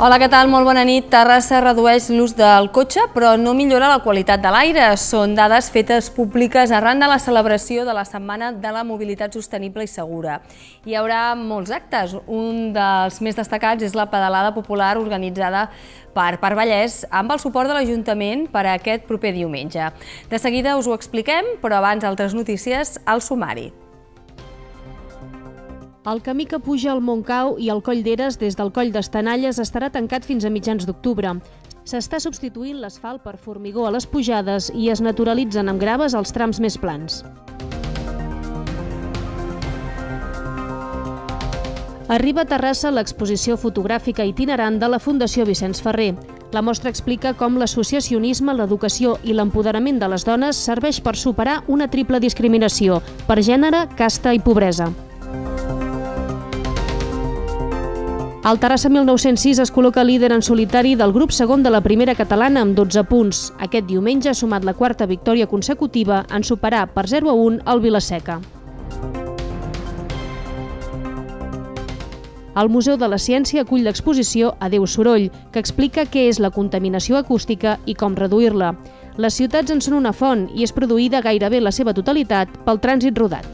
Hola, què tal? Molt bona nit. Terrassa redueix l'ús del cotxe, però no millora la qualitat de l'aire. Són dades fetes públiques arran de la celebració de la Setmana de la Mobilitat Sostenible i Segura. Hi haurà molts actes. Un dels més destacats és la pedalada popular organitzada per Vallès amb el suport de l'Ajuntament per a aquest proper diumenge. De seguida us ho expliquem, però abans altres notícies al sumari. El camí que puja al Montcau i al Coll d'Eres des del Coll d'Estanalles estarà tancat fins a mitjans d'octubre. S'està substituint l'asfalt per formigó a les pujades i es naturalitzen amb graves els trams més plans. Arriba a Terrassa l'exposició fotogràfica itinerant de la Fundació Vicenç Ferrer. La mostra explica com l'associacionisme, l'educació i l'empoderament de les dones serveix per superar una triple discriminació per gènere, casta i pobresa. El Terrassa 1906 es col·loca líder en solitari del grup segon de la primera catalana amb 12 punts. Aquest diumenge ha sumat la quarta victòria consecutiva en superar per 0-1 el Vila-seca. El Museu de la Ciència acull l'exposició Adeu Soroll, que explica què és la contaminació acústica i com reduir-la. Les ciutats en són una font i és produïda gairebé la seva totalitat pel trànsit rodat.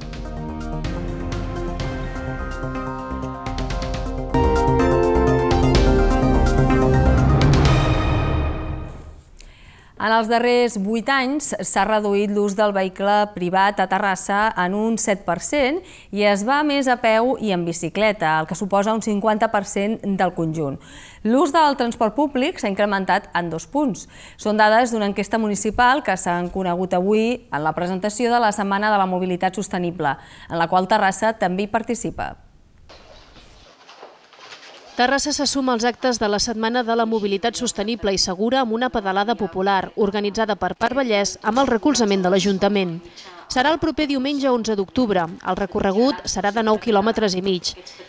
En els darrers 8 anys s'ha reduït l'ús del vehicle privat a Terrassa en un 7% i es va més a peu i en bicicleta, el que suposa un 50% del conjunt. L'ús del transport públic s'ha incrementat en 2 punts. Són dades d'una enquesta municipal que s'han conegut avui en la presentació de la Setmana de la Mobilitat Sostenible, en la qual Terrassa també hi participa. Terrassa se suma als actes de la Setmana de la Mobilitat Sostenible i Segura amb una pedalada popular, organitzada per Vallès amb el recolzament de l'Ajuntament. Serà el proper diumenge 11 d'octubre. El recorregut serà de 9,5 quilòmetres.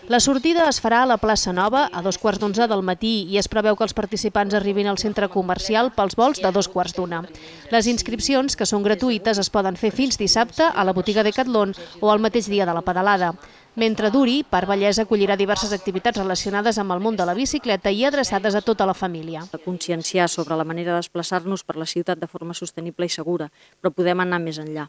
La sortida es farà a la plaça Nova a 2:15 del matí i es preveu que els participants arribin al centre comercial pels vols de 2:15. Les inscripcions, que són gratuïtes, es poden fer fins dissabte a la botiga Decathlon o el mateix dia de la pedalada. Mentre duri, Vallès acollirà diverses activitats relacionades amb el món de la bicicleta i adreçades a tota la família. Conscienciar sobre la manera de desplaçar-nos per la ciutat de forma sostenible i segura, però podem anar més enllà.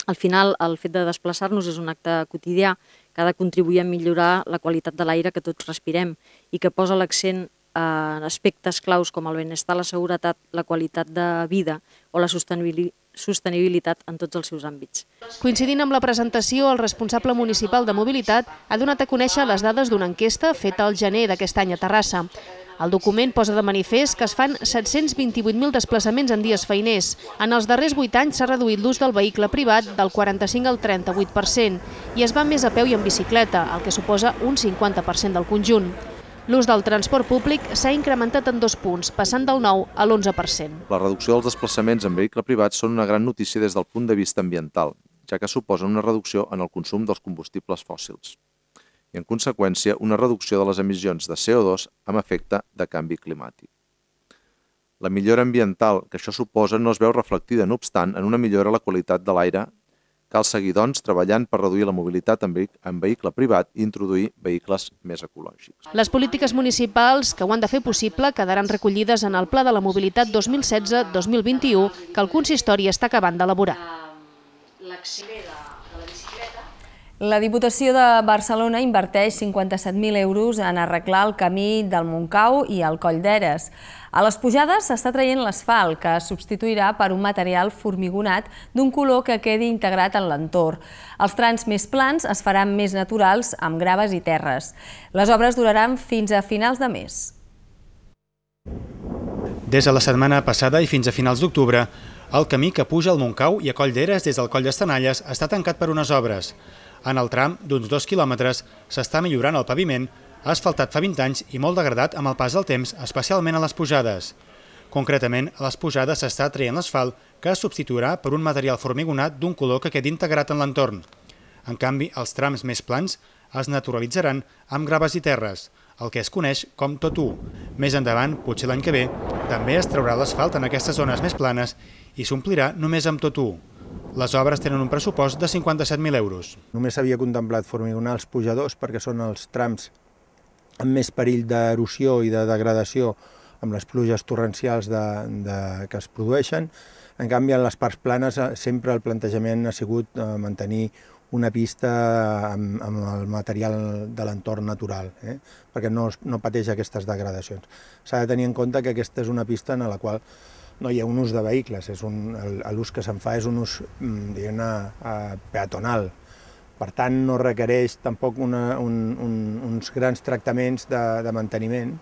Al final, el fet de desplaçar-nos és un acte quotidià que ha de contribuir a millorar la qualitat de l'aire que tots respirem i que posa l'accent en aspectes claus com el benestar, la seguretat, la qualitat de vida o la sostenibilitat en tots els seus àmbits. Coincidint amb la presentació, el responsable municipal de mobilitat ha donat a conèixer les dades d'una enquesta feta al gener d'aquest any a Terrassa. El document posa de manifest que es fan 728.000 desplaçaments en dies feiners. En els darrers 8 anys s'ha reduït l'ús del vehicle privat del 45 al 38% i es va més a peu i en bicicleta, el que suposa un 50% del conjunt. L'ús del transport públic s'ha incrementat en 2 punts, passant del 9 a l'11%. La reducció dels desplaçaments en vehicle privat són una gran notícia des del punt de vista ambiental, ja que suposen una reducció en el consum dels combustibles fòssils i, en conseqüència, una reducció de les emissions de CO2 amb efecte de canvi climàtic. La millora ambiental que això suposa no es veu reflectida, no obstant, en una millora a la qualitat de l'aire. Cal seguir, doncs, treballant per reduir la mobilitat en vehicle privat i introduir vehicles més ecològics. Les polítiques municipals que ho han de fer possible quedaran recollides en el Pla de la Mobilitat 2016-2021 que el consistori està acabant d'elaborar. La Diputació de Barcelona inverteix 57.000 euros en arreglar el camí del Montcau i el Coll d'Eres. A les pujades s'està traient l'asfalt, que es substituirà per un material formigonat d'un color que quedi integrat en l'entorn. Els trams més plans es faran més naturals amb graves i terres. Les obres duraran fins a finals de mes. Des de la setmana passada i fins a finals d'octubre, el camí que puja al Montcau i a Coll d'Eres des del Coll d'Estanalles està tancat per unes obres. En el tram d'uns 2 quilòmetres s'està millorant el paviment, asfaltat fa 20 anys i molt degradat amb el pas del temps, especialment a les pujades. Concretament, a les pujades s'està traient l'asfalt, que es substituirà per un material formigonat d'un color que quedi integrat en l'entorn. En canvi, els trams més plans es naturalitzaran amb graves i terres, el que es coneix com tot u. Més endavant, potser l'any que ve, també es traurà l'asfalt en aquestes zones més planes i s'omplirà només amb tot u. Les obres tenen un pressupost de 57.000 euros. Només s'havia contemplat formigonar els pujadors perquè són els trams amb més perill d'erosió i de degradació amb les pluges torrencials que es produeixen. En canvi, en les parts planes sempre el plantejament ha sigut mantenir una pista amb el material de l'entorn natural, perquè no pateix aquestes degradacions. S'ha de tenir en compte que aquesta és una pista en la qual no hi ha un ús de vehicles, l'ús que se'n fa és un ús peatonal. Per tant, no requereix tampoc uns grans tractaments de manteniment.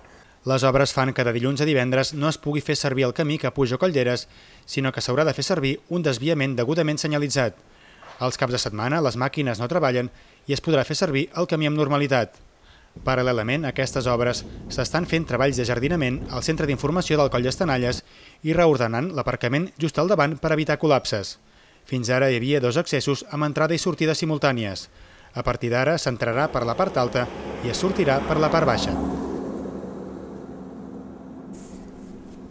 Les obres fan que de dilluns a divendres no es pugui fer servir el camí que puja a Collderes, sinó que s'haurà de fer servir un desviament degudament senyalitzat. Els caps de setmana les màquines no treballen i es podrà fer servir el camí amb normalitat. Paral·lelament a aquestes obres s'estan fent treballs de jardinament al centre d'informació del Coll d'Estanalles i reordenant l'aparcament just al davant per evitar col·lapses. Fins ara hi havia 2 accessos amb entrada i sortida simultànies. A partir d'ara s'entrarà per la part alta i es sortirà per la part baixa.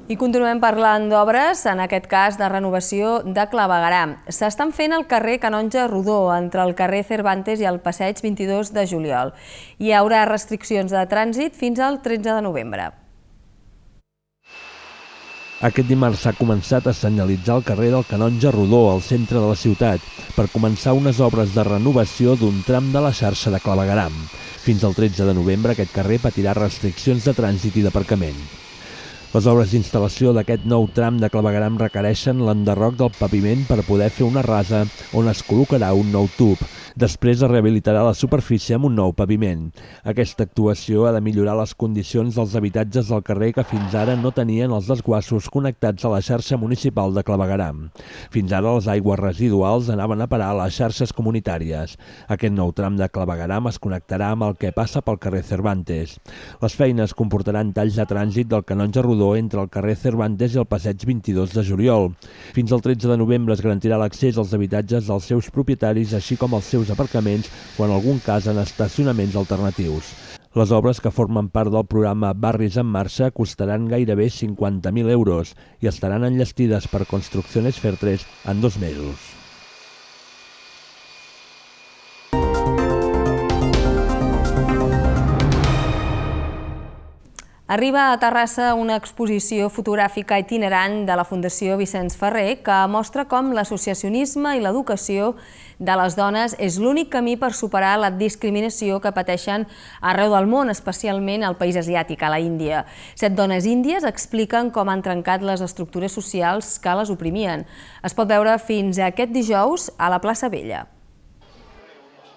I continuem parlant d'obres, en aquest cas de renovació de clavegueram. S'estan fent al carrer Canonge Rodó, entre el carrer Cervantes i el passeig 22 de juliol. Hi haurà restriccions de trànsit fins al 13 de novembre. Aquest dimarts s'ha començat a senyalitzar el carrer del Canonge Rodó, al centre de la ciutat, per començar unes obres de renovació d'un tram de la xarxa de clavegueram. Fins al 13 de novembre aquest carrer patirà restriccions de trànsit i d'aparcament. Les obres d'instal·lació d'aquest nou tram de clavegueram requereixen l'enderroc del paviment per poder fer una rasa on es col·locarà un nou tub. Després es rehabilitarà la superfície amb un nou paviment. Aquesta actuació ha de millorar les condicions dels habitatges del carrer que fins ara no tenien els desguassos connectats a la xarxa municipal de clavegueram. Fins ara les aigües residuals anaven a parar a les xarxes comunitàries. Aquest nou tram de clavegueram es connectarà amb el que passa pel carrer Cervantes. Les feines comportaran talls de trànsit del Canonge Rodó entre el carrer Cervantes i el passeig 22 de juliol. Fins al 13 de novembre es garantirà l'accés als habitatges dels seus propietaris, així com als seus aparcaments o en algun cas en estacionaments alternatius. Les obres que formen part del programa Barris en Marxa costaran gairebé 50.000 euros i estaran enllestides per Construcciones Fertres en 2 mesos. Arriba a Terrassa una exposició fotogràfica itinerant de la Fundació Vicenç Ferrer que mostra com l'associacionisme i l'educació de les dones és l'únic camí per superar la discriminació que pateixen arreu del món, especialment al país asiàtic, a la Índia. 7 dones índies expliquen com han trencat les estructures socials que les oprimien. Es pot veure fins a aquest dijous a la plaça Vella.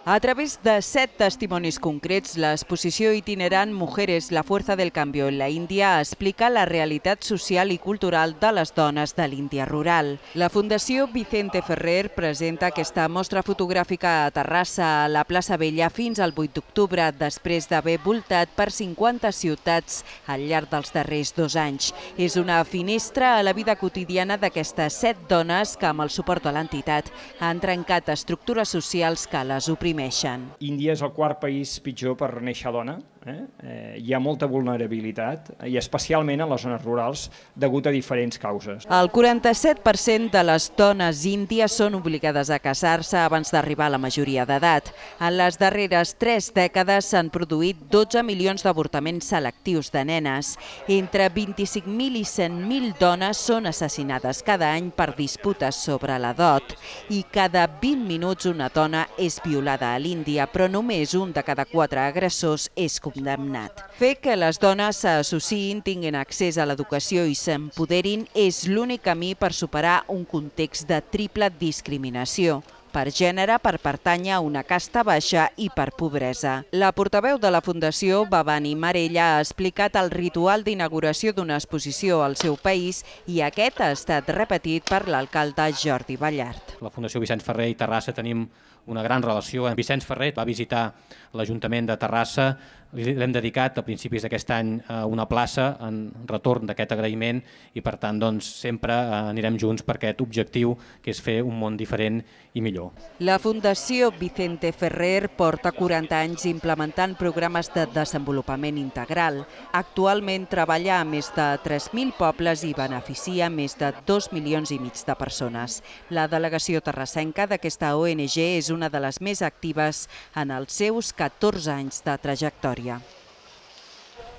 A través de 7 testimonis concrets, l'exposició itinerant Mujeres, la fuerza del cambio en la Índia explica la realitat social i cultural de les dones de l'Índia rural. La Fundació Vicente Ferrer presenta aquesta mostra fotogràfica a Terrassa, a la plaça Vella, fins al 8 d'octubre, després d'haver voltat per 50 ciutats al llarg dels darrers 2 anys. És una finestra a la vida quotidiana d'aquestes 7 dones que, amb el suport de l'entitat, han trencat estructures socials que les oprimien. Índia és el 4º país pitjor per néixer dona. Hi ha molta vulnerabilitat, i especialment en les zones rurals, degut a diferents causes. El 47% de les dones índies són obligades a casar-se abans d'arribar a la majoria d'edat. En les darreres 3 dècades s'han produït 12 milions d'avortaments selectius de nenes. Entre 25.000 i 100.000 dones són assassinades cada any per disputes sobre la dot, i cada 20 minuts una dona és violada a l'Índia, però només un de cada 4 agressors és condemnat. Fer que les dones s'associïn, tinguin accés a l'educació i s'empoderin és l'únic camí per superar un context de triple discriminació: per gènere, per pertànyer a una casta baixa i per pobresa. La portaveu de la Fundació, Bhavani Marella, ha explicat el ritual d'inauguració d'una exposició al seu país i aquest ha estat repetit per l'alcalde Jordi Ballart. La Fundació Vicenç Ferrer i Terrassa tenim una gran relació. Vicenç Ferrer va visitar l'Ajuntament de Terrassa, l'hem dedicat a principis d'aquest any una plaça en retorn d'aquest agraïment i per tant sempre anirem junts per aquest objectiu que és fer un món diferent i millor. La Fundació Vicente Ferrer porta 40 anys implementant programes de desenvolupament integral. Actualment treballa a més de 3.000 pobles i beneficia més de 2,5 milions de persones. La delegació terrassenca d'aquesta ONG és una de les més actives en els seus 14 anys de trajectòria.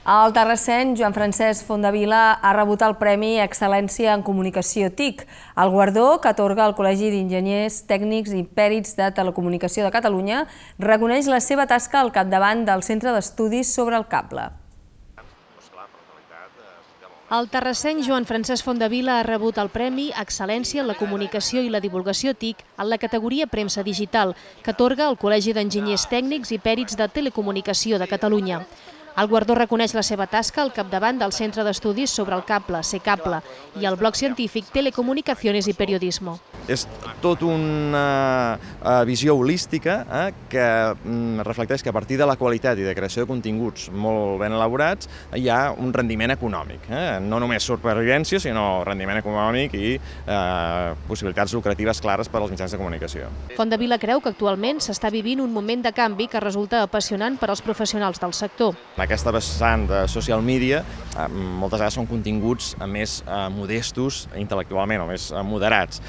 El terrassenc Joan Francesc Fondavila ha rebut el Premi Excel·lència en Comunicació TIC, el guardó que atorga el Col·legi d'Enginyers Tècnics i Pèrits de Telecomunicació de Catalunya reconeix la seva tasca al capdavant del Centre d'Estudis sobre el Cable. El terrassenc Joan Francesc Fondavila ha rebut el Premi Excel·lència en la Comunicació i la Divulgació TIC en la categoria Premsa Digital, que atorga el Col·legi d'Enginyers Tècnics i Pèrits de Telecomunicació de Catalunya. El guardó reconeix la seva tasca al capdavant del Centre d'Estudis sobre el Cable, CECable, i el bloc científic Telecomunicaciones i Periodismo. És tot una visió holística que reflecteix que a partir de la qualitat i de creació de continguts molt ben elaborats hi ha un rendiment econòmic. No només supervivència, sinó rendiment econòmic i possibilitats lucratives clares per als mitjans de comunicació. Fondavila creu que actualment s'està vivint un moment de canvi que resulta apassionant per als professionals del sector. Aquesta vessant de social media moltes vegades són continguts més modestos intel·lectualment o més moderats,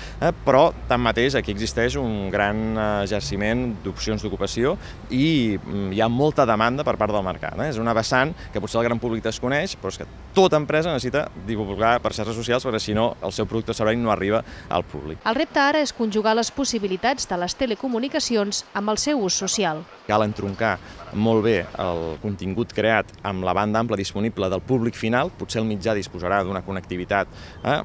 però tanmateix aquí existeix un gran exerciment d'opcions d'ocupació i hi ha molta demanda per part del mercat. És una vessant que potser el gran públic desconeix, però és que tota empresa necessita divulgar per xarxes socials perquè si no el seu producte o servei no arriba al públic. El repte ara és conjugar les possibilitats de les telecomunicacions amb el seu ús social. Cal entroncar molt bé el contingut creat amb la banda ampla disponible del públic final. Potser el mitjà disposarà d'una connectivitat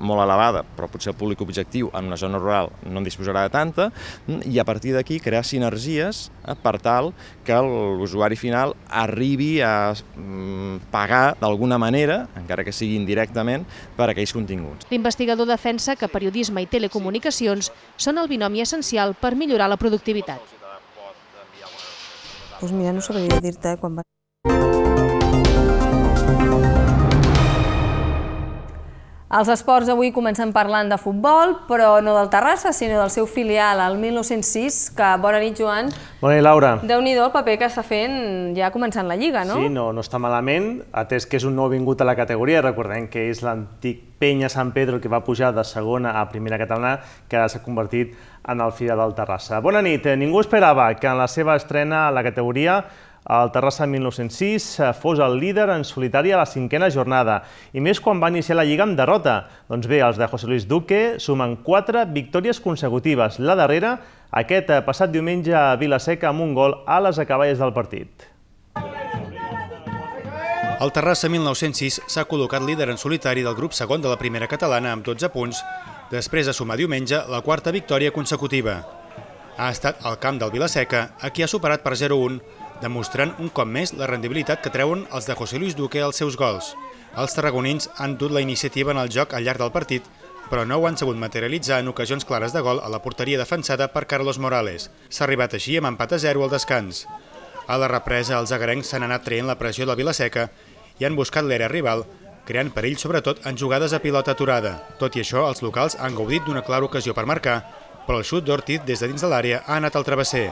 molt elevada, però potser el públic objectiu en una zona rural no en disposarà de tanta, i a partir d'aquí crear sinergies per tal que l'usuari final arribi a pagar d'alguna manera, encara que sigui indirectament, per aquells continguts. L'investigador defensa que periodisme i telecomunicacions són el binomi essencial per millorar la productivitat. Doncs mira, no sabria dir-te quan va... Els esports avui comencen parlant de futbol, però no del Terrassa, sinó del seu filial, el 1906, que... Bona nit, Joan. Bona nit, Laura. Déu-n'hi-do el paper que està fent ja començant la Lliga, no? Sí, no està malament, atès que és un nou vingut a la categoria. Recordem que és l'antic Penya Sant Pedro que va pujar de segona a primera catalana, que ara s'ha convertit en el filial del Terrassa. Bona nit. Ningú esperava que en la seva estrena a la categoria el Terrassa 1906 fos el líder en solitari a la 5a jornada, i més quan va iniciar la Lliga amb derrota. Doncs bé, els de José Luis Duque sumen 4 victòries consecutives. La darrera, aquest passat diumenge a Vila-seca amb un gol a les acaballes del partit. El Terrassa 1906 s'ha col·locat líder en solitari del grup segon de la primera catalana amb 12 punts, després de sumar diumenge la 4a victòria consecutiva. Ha estat al camp del Vila-seca, a qui ha superat per 0-1, demostrant un cop més la rendibilitat que treuen els de José Luis Duque als seus gols. Els tarragonins han dut la iniciativa en el joc al llarg del partit, però no ho han sabut materialitzar en ocasions clares de gol a la porteria defensada per Carlos Morales. S'ha arribat així amb empat a 0 al descans. A la represa, els agarencs s'han anat traient la pressió del Vila-seca i han buscat l'era rival, creant perill sobretot en jugades a pilota aturada. Tot i això, els locals han gaudit d'una clara ocasió per marcar, però el xut d'Ortiz des de dins de l'àrea ha anat al travesser.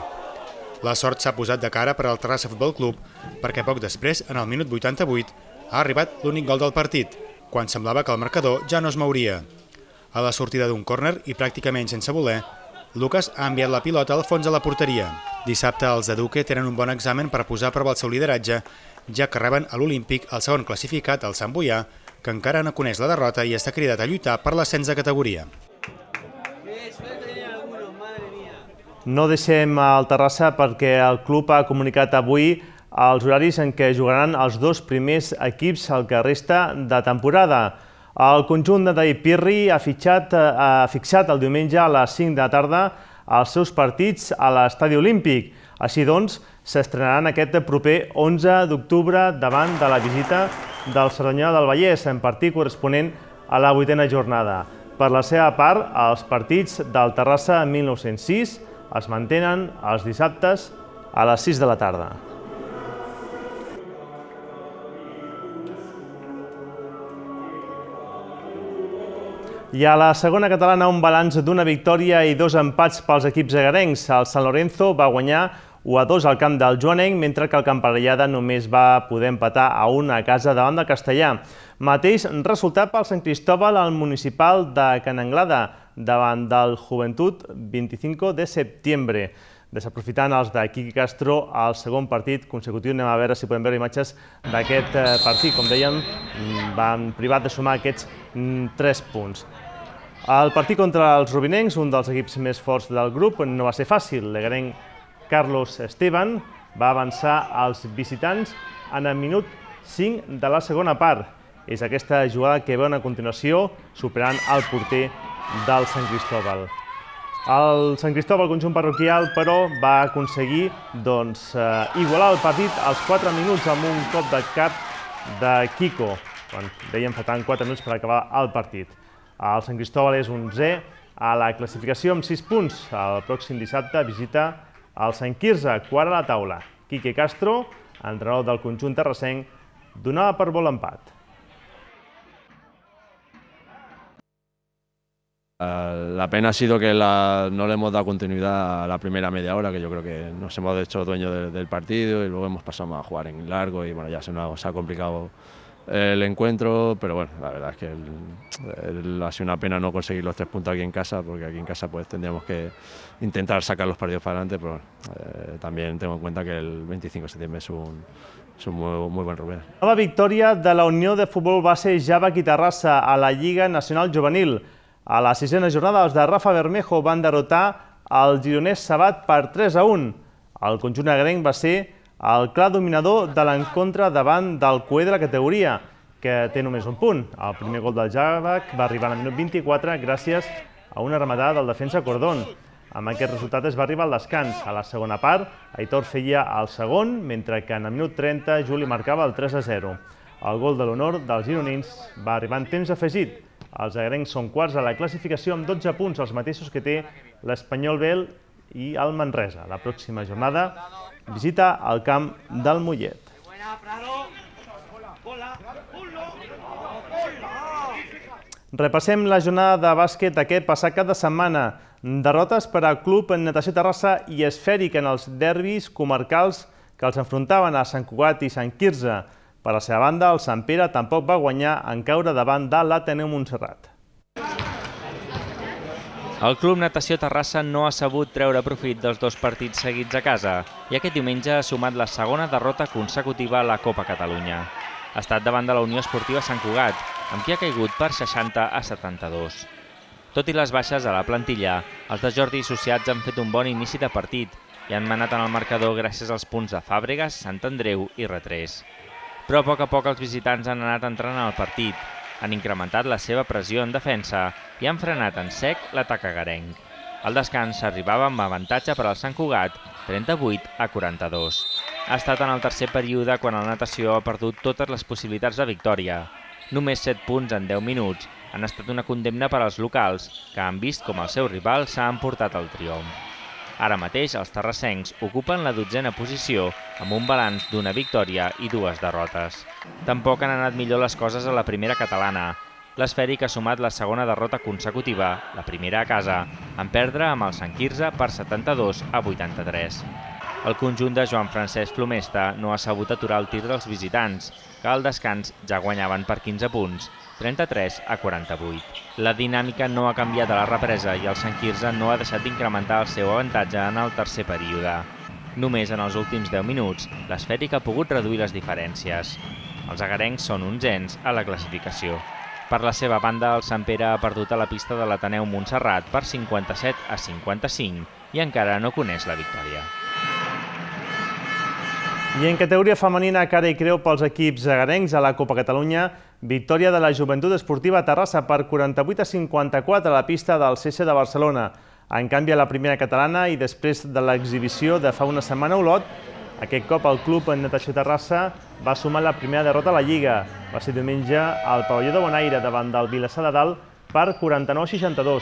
La sort s'ha posat de cara per al Terrassa Futbol Club, perquè poc després, en el minut 88, ha arribat l'únic gol del partit, quan semblava que el marcador ja no es mouria. A la sortida d'un córner, i pràcticament sense voler, Lucas ha enviat la pilota al fons de la porteria. Dissabte els de Duque tenen un bon examen per posar a prova el seu lideratge, ja que reben a l'Olímpic el segon classificat, el Sant Boià, que encara no coneix la derrota i està cridat a lluitar per l'ascens de categoria. No deixem el Terrassa perquè el club ha comunicat avui els horaris en què jugaran els 2 primers equips al que resta de temporada. El conjunt de David Pirri ha fixat el diumenge a les 5 de la tarda els seus partits a l'Estadi Olímpic. Així doncs, s'estrenaran aquest proper 11 d'octubre davant de la visita del Cerdanyola del Vallès, en partit corresponent a la 8a jornada. Per la seva part, els partits del Terrassa 1906 es mantenen els dissabtes a les 6 de la tarda. I a la segona catalana, un balanç d'una victòria i 2 empats pels equips agarencs. El Sant Lorenzo va guanyar 1-2 al camp del Joanenc, mentre que el Camparellada només va poder empatar a 1 a casa davant del Castellà. Mateix resultat pel Sant Cristóbal al municipal de Can Anglada, davant del Joventut 25 de setembre. desaprofitant els de Quique Castro al segon partit consecutiu. Anem a veure si podem veure imatges d'aquest partit. Com dèiem, van privat de sumar aquests 3 punts. El partit contra els rubinencs, un dels equips més forts del grup, no va ser fàcil. L'egarenc Carlos Esteban va avançar als visitants en el minut 5 de la segona part. És aquesta jugada que veuen a continuació, superant el porter del Sant Cristóbal. El Sant Cristóbal, conjunt parroquial, però va aconseguir igualar el partit als 4 minuts amb un cop de cap de Kiko, quan dèiem faltaven 4 minuts per acabar el partit. El Sant Cristóbal és 11è a la classificació amb 6 punts. El pròxim dissabte visita el Sant Quirze, quart a la taula. Quique Castro, entrenador del conjunt terrassenc, donava per bo l'empat. La pena ha sido que no le hemos dado continuidad a la primera media hora, que yo creo que nos hemos hecho dueños del partido y luego hemos pasado a jugar en largo y bueno, ya se nos ha complicado el encuentro, pero bueno, la verdad es que ha sido una pena no conseguir los 3 puntos aquí en casa, porque aquí en casa pues tendríamos que intentar sacar los partidos para adelante, pero también tengo en cuenta que el 25 de septiembre es un muy buen Rubén. Nova victòria de la Unió de Futbol Base Javac i Terrassa a la Lliga Nacional Juvenil. A la 6a jornada, els de Rafa Bermejo van derrotar el gironès Sabat per 3-1. El conjunt agrenc va ser el clar dominador de l'encontre davant del coer de la categoria, que té només un punt. El primer gol del Javac va arribar al minut 24 gràcies a una rematada del defensa Cordón. Amb aquest resultat es va arribar al descans. A la segona part, Aitor feia el segon, mentre que en el minut 30 Juli marcava el 3-0. El gol de l'honor dels gironins va arribar en temps afegit. Els agrencs són quarts a la classificació amb 12 punts, els mateixos que té l'Espanyol B i el Manresa. La pròxima jornada visita el camp del Mollet. Repassem la jornada de bàsquet aquest passat cap de setmana. Derrotes per al Club Natació Terrassa i Esfèric en els derbis comarcals que els enfrontaven a Sant Cugat i Sant Quirze. Per la seva banda, el Sant Pere tampoc va guanyar en caure davant de l'Ateneu Montserrat. El Club Natació Terrassa no ha sabut treure profit dels 2 partits seguits a casa i aquest diumenge ha sumat la segona derrota consecutiva a la Copa Catalunya. Ha estat davant de la Unió Esportiva Sant Cugat, amb qui ha caigut per 60-72. Tot i les baixes a la plantilla, els de Jordi associats han fet un bon inici de partit i han manat en el marcador gràcies als punts de Fàbregas, Sant Andreu i Retrés. Però a poc els visitants han anat entrant al partit, han incrementat la seva pressió en defensa i han frenat en sec l'atac agarenc. Al descans s'arribava amb avantatge per al Sant Cugat, 38-42. Ha estat en el tercer període quan el Natació ha perdut totes les possibilitats de victòria. Només 7 punts en 10 minuts han estat una condemna per als locals, que han vist com el seu rival s'ha emportat el triomf. Ara mateix els terrassencs ocupen la 12a posició amb un balanç d'una victòria i 2 derrotes. Tampoc han anat millor les coses a la primera catalana. L'Esfèric ha sumat la segona derrota consecutiva, la primera a casa, en perdre amb el Sant Quirze per 72-83. El conjunt de Joan Francesc Flomesta no ha sabut aturar el tir dels visitants, que al descans ja guanyaven per 15 punts, 33-48. La dinàmica no ha canviat a la represa i el Sant Quirze no ha deixat d'incrementar el seu avantatge en el tercer període. Només en els últims 10 minuts, l'Esfèric ha pogut reduir les diferències. Els agarencs són 11ens a la classificació. Per la seva banda, el Sant Pere ha perdut a la pista de l'Ateneu Montserrat per 57-55 i encara no coneix la victòria. I en categoria femenina, cara i creu pels equips agarencs a la Copa Catalunya, victòria de la Joventut Esportiva Terrassa per 48-54 a la pista del CC de Barcelona. En canvi, a la primera catalana i després de l'exhibició de fa una setmana a Olot, aquest cop el Club Natació Terrassa va sumar la primera derrota a la Lliga. Va ser diumenge al pavelló de Bonaire davant del Vilassar de Dalt per 49-62.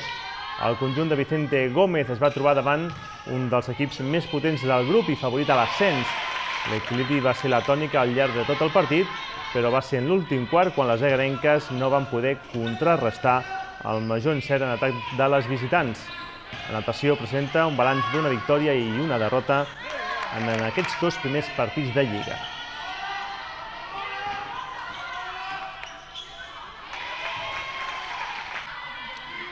El conjunt de Vicente Gómez es va trobar davant un dels equips més potents del grup i favorit a l'ascens. L'equilibri va ser la tònica al llarg de tot el partit, però va ser en l'últim quart quan les agarenques no van poder contrarrestar el major encert en atac de les visitants. La natació presenta un balanç d'una victòria i una derrota en aquests 2 primers partits de Lliga.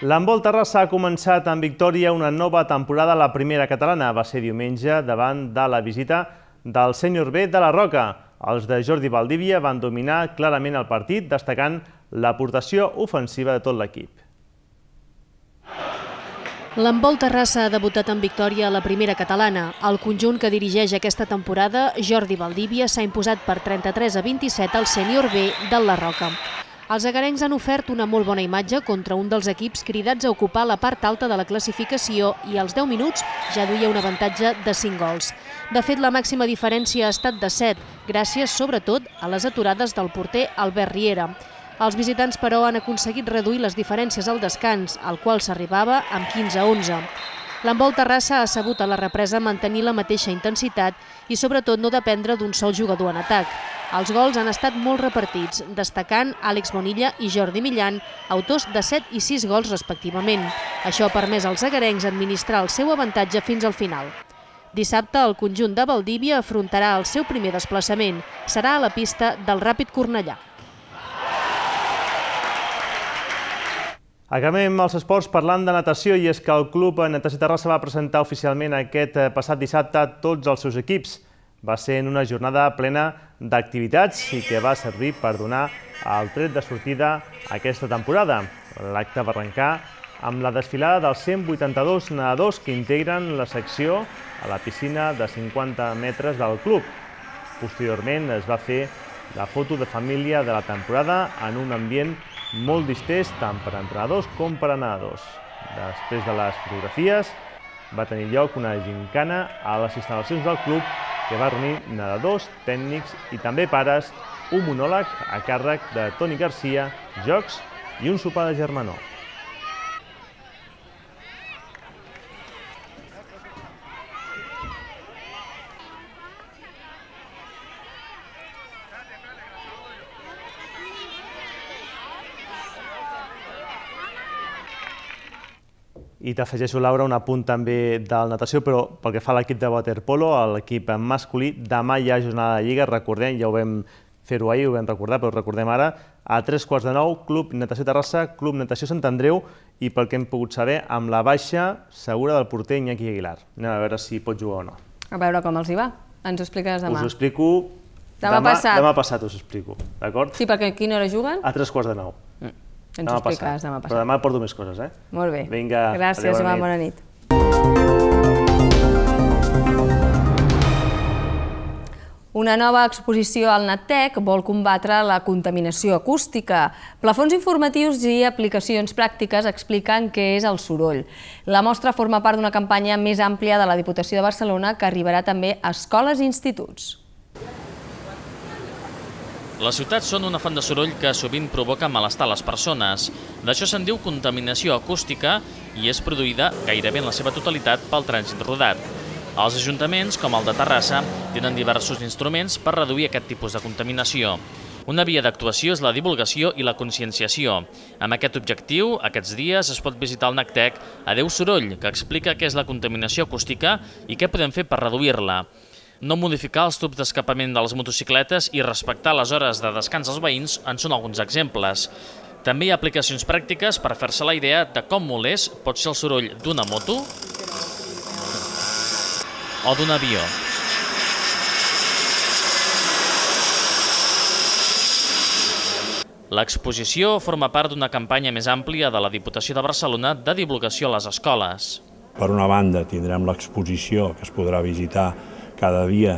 L'handbol Terrassa ha començat amb victòria una nova temporada a la primera catalana. Va ser diumenge davant de la visita del sènior B de la Roca. Els de Jordi Valdívia van dominar clarament el partit, destacant l'aportació ofensiva de tot l'equip. L'handbol Terrassa ha debutat en victòria a la primera catalana. El conjunt que dirigeix aquesta temporada, Jordi Valdívia, s'ha imposat per 33-27 al sènior B del La Roca. Els agarencs han ofert una molt bona imatge contra un dels equips cridats a ocupar la part alta de la classificació i als 10 minuts ja duia un avantatge de 5 gols. De fet, la màxima diferència ha estat de 7, gràcies sobretot a les aturades del porter Albert Riera. Els visitants, però, han aconseguit reduir les diferències al descans, al qual s'arribava amb 15-11. L'handbol Terrassa ha sabut a la represa mantenir la mateixa intensitat i sobretot no dependre d'un sol jugador en atac. Els gols han estat molt repartits, destacant Àlex Bonilla i Jordi Millan, autors de 7 i 6 gols respectivament. Això ha permès als agarencs administrar el seu avantatge fins al final. Dissabte, el conjunt de Valdívia afrontarà el seu primer desplaçament. Serà a la pista del Ràpid Cornellà. Acabem els esports parlant de natació, i és que el Club Natació Terrassa va presentar oficialment aquest passat dissabte tots els seus equips. Va ser en una jornada plena d'activitats i que va servir per donar el tret de sortida a aquesta temporada. L'acte va arrencar amb la desfilada dels 182 nedadors que integren la secció a la piscina de 50 metres del club. Posteriorment es va fer la foto de família de la temporada en un ambient molt distès tant per a entrenadors com per a nedadors. Després de les fotografies va tenir lloc una gincana a les instal·lacions del club que va reunir nedadors, tècnics i també pares, un monòleg a càrrec de Toni Garcia, jocs i un sopar de germanor. I t'afegeixo, Laura, un apunt també del natació, però pel que fa a l'equip de waterpolo, l'equip masculí, demà hi ha jornada de lliga, recordem, ja ho vam fer-ho ahir, ho vam recordar, però ho recordem ara, a 3:15, Club Natació Terrassa, Club Natació Sant Andreu, i pel que hem pogut saber, amb la baixa segura del porter Iñaki Aguilar. Anem a veure si pot jugar o no. A veure com els hi va. Ens ho expliques demà. Us ho explico demà passat, us ho explico, d'acord? Sí, perquè a quina hora juguen? A 3:15. Ens ho expliques demà passat. Però demà porto més coses, eh? Molt bé. Vinga, gràcies, Joan, bona nit. Una nova exposició al NatTech vol combatre la contaminació acústica. Plafons informatius i aplicacions pràctiques expliquen què és el soroll. La mostra forma part d'una campanya més àmplia de la Diputació de Barcelona que arribarà també a escoles i instituts. Les ciutats són una font de soroll que sovint provoca malestar a les persones. D'això se'n diu contaminació acústica i és produïda gairebé en la seva totalitat pel trànsit rodat. Els ajuntaments, com el de Terrassa, tenen diversos instruments per reduir aquest tipus de contaminació. Una via d'actuació és la divulgació i la conscienciació. Amb aquest objectiu, aquests dies es pot visitar el NatTech Adeu Soroll, que explica què és la contaminació acústica i què podem fer per reduir-la. No modificar els tubs d'escapament de les motocicletes i respectar les hores de descans dels veïns en són alguns exemples. També hi ha aplicacions pràctiques per fer-se la idea de com molest pot ser el soroll d'una moto o d'un avió. L'exposició forma part d'una campanya més àmplia de la Diputació de Barcelona de divulgació a les escoles. Per una banda, tindrem l'exposició que es podrà visitar cada dia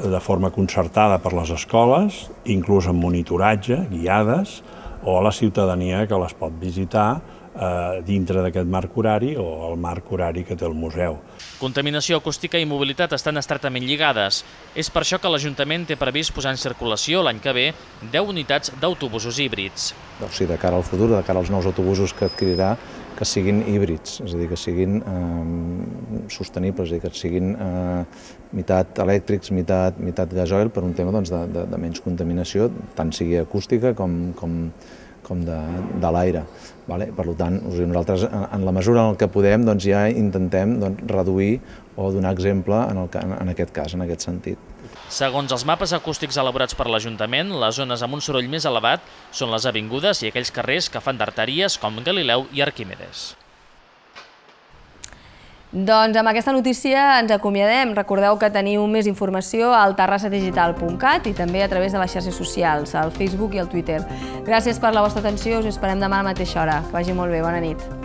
de forma concertada per les escoles, inclús amb monitoratge, guiades, o a la ciutadania que les pot visitar dintre d'aquest marc horari o el marc horari que té el museu. Contaminació acústica i mobilitat estan estretament lligades. És per això que l'Ajuntament té previst posar en circulació l'any que ve 10 unitats d'autobusos híbrids. O sigui, de cara al futur, de cara als nous autobusos que adquirirà, que siguin híbrids, és a dir, que siguin sostenibles, és a dir, que siguin meitat elèctrics, meitat gasoil, per un tema de menys contaminació, tant sigui acústica com de l'aire. Per tant, nosaltres, en la mesura en què podem, ja intentem reduir o donar exemple en aquest cas, en aquest sentit. Segons els mapes acústics elaborats per l'Ajuntament, les zones amb un soroll més elevat són les avingudes i aquells carrers que fan d'arteries com Galileu i Arquímedes. Doncs amb aquesta notícia ens acomiadem. Recordeu que teniu més informació al terrassadigital.cat i també a través de les xarxes socials, al Facebook i al Twitter. Gràcies per la vostra atenció, us esperem demà a la mateixa hora. Que vagi molt bé, bona nit.